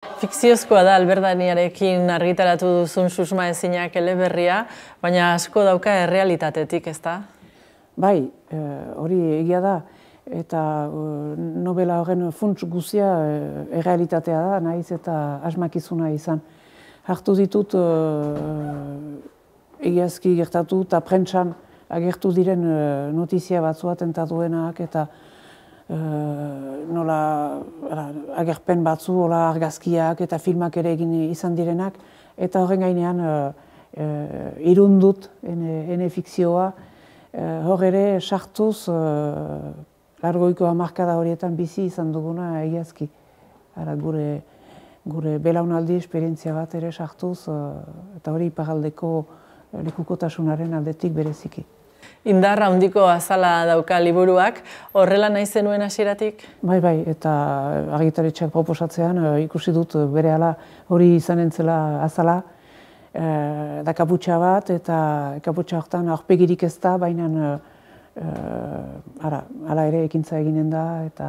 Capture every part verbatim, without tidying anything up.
Fikziozkoa da Alberdaniarekin argitaratu duzun susmaezinak eleberria, baina asko dauka errealitatetik, ezta? Bai, hori egia da, eta novela horren funts guzia errealitatea da, nahiz eta asmakizuna izan. Hartu ditut egiazki gertatu eta prentsan agertu diren notizia batzua tentatuenak eta nola agerpen batzu, hola argazkiak eta filmak ere egin izan direnak, eta horren gainean irundut ene fikzioa, hor ere sartuz largoiko hamarkada horietan bizi izan duguna egiazki. Gure gure belaunaldi esperientzia bat ere sartuz, eta hori iparraldeko lekukotasunaren aldetik bereziki. Indar handiko azala dauka liburuak, horrela nahi zenuen hasieratik? Bai, bai, eta argitaletxeak proposatzean ikusi dut berehala hori izanen zela azala, da kaputxa bat, eta kaputxa horretan aurpegirik ez da, baina hala ere ekintza eginen da, eta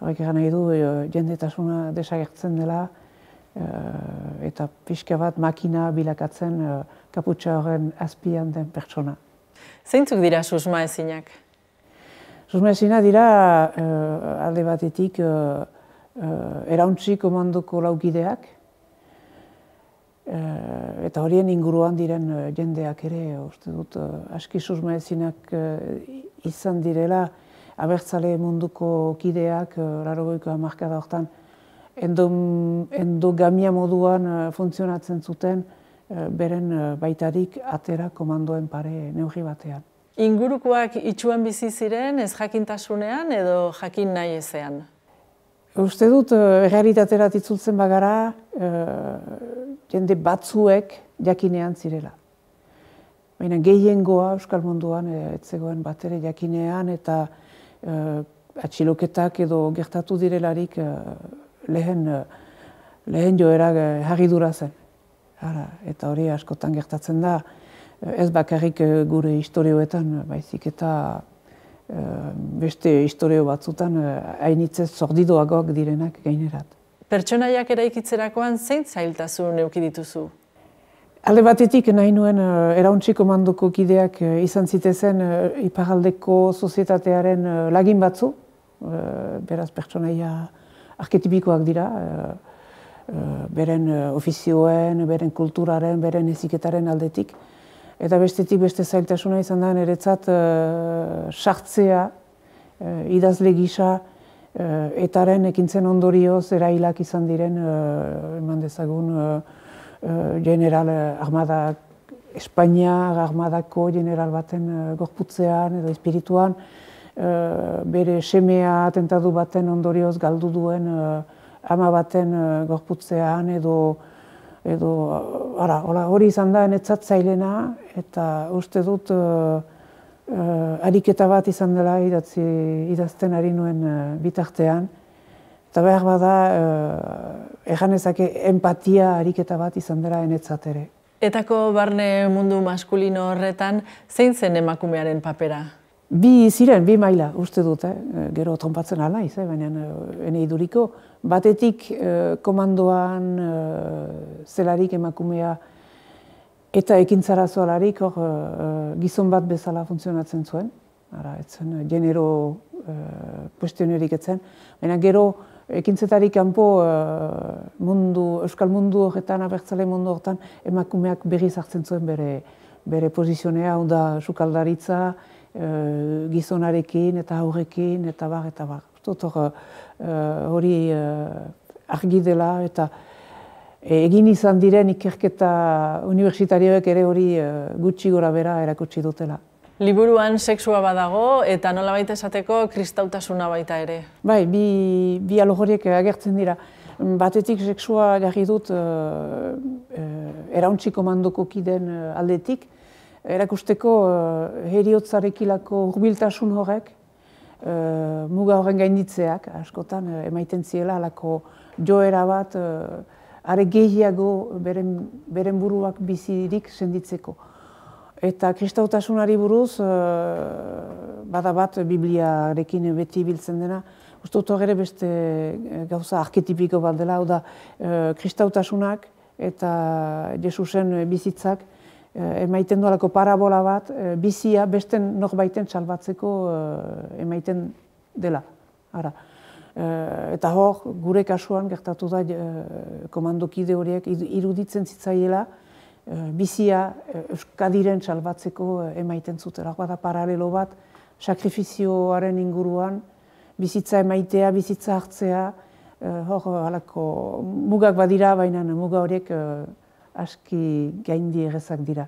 horrek egan nahi du jendetasuna desagertzen dela, eta pixka bat makina bilakatzen kaputxa horren azpian den pertsona. Zeintzuk dira susmaezinak? Susmaezinak dira alde batetik erauntzi komandoko laukideak, eta horien inguruan diren jendeak ere, uste dut, aski susmaezinak izan direla, abertzale munduko kideak, laurogeiko hamarkada horretan, endogamia moduan funtzionatzen zuten, beren baitarik atera komandoen pare neurri batean. Ingurukoak itsuan bizi ziren, ez jakintasunean edo jakin nahi ezean? Uste dut, errealitaterat itzultzen bagara, jende batzuek jakinean zirela. Baina gehiengoa Euskal Munduan ez zegoen bat ere jakinean, eta atxiloketak edo gertatu direlarik lehen joera harridura zen. Eta hori askotan gertatzen da, ez bakarrik gure historioetan, baizik eta beste historio batzutan hainitzez zordidoagoak direnak gainerat. Pertsonaiak eraikitzerakoan zein zailtasun eduki dituzu? Alde batetik nahi nuen erauntzi komandoko kideak izan zitezen iparraldeko sozietatearen lagin batzu, beraz pertsonaia arketipikoak dira, beren ofizioen, beren kulturaren, beren heziketaren aldetik. Eta bestetik beste zailtasuna izan da niretzat sartzea, idazle gisa, etaren ekintzen ondorioz erailak izan diren, eman dezagun, general armada, Espainiar armadako general baten gorputzean edo espirituan, bere semea atentatu baten ondorioz galdu duen ama baten gorputzean edo hori izan da netzat zailena, eta uste dut ariketa bat izan dela idazten ari nuen bitartean. Eta behar bada, erganezake empatia ariketa bat izan dela enetzat ere. Etako barne mundu maskulino horretan, zein zen emakumearen papera? Bi ziren, bi maila, uste dut, gero trompatzen ala naiz, baina ene iduriko. Batetik komandoan zelarik emakumea eta ekintzara zoalarik gizon bat bezala funtzionatzen zuen. Ez zen genero kuestionerik etzen. Baina gero ekintzetarik kanpo Euskal mundu horretan, abertzale mundu horretan, emakumeak berriz hartzen zuen bere pozizionea, hau da sukaldaritza, gizonarekin eta aurrekin eta bar eta bar. Hori argi dela eta egin izan diren ikerketa unibertsitarioek ere hori gutxi gora bera erakutsi dutela. Liburuan sexua badago eta nolabait esateko kristautasuna baita ere. Bai, bi alogoriek agertzen dira. Batetik sexua jarri dut erauntzi komandoko kideen aldetik, erakusteko heriotzarekilako hurbiltasun horrek, muga horren gainditzeak, askotan emaiten ziela, alako joera bat, are gehiago beren buruak bizirik senditzeko. Eta kristautasunari buruz, bada bat Bibliarekin beti biltzen dena, uste dut ere beste gauza arketipiko bat dela, hau da, kristautasunak eta Jesusen bizitzak emaiten duelako parabola bat, bizia beste norbaiten salbatzeko emaiten dela. Ara. Eta hor, gure kasuan gertatu da komandokide horiek iruditzen zitzaiela, bizia Euskadiren salbatzeko emaiten zutela. Bada paralelo bat, sakrifizioaren inguruan, bizitza emaitea, bizitza hartzea, hor halako mugak badira, baina muga horiek aski gaindi errezak dira.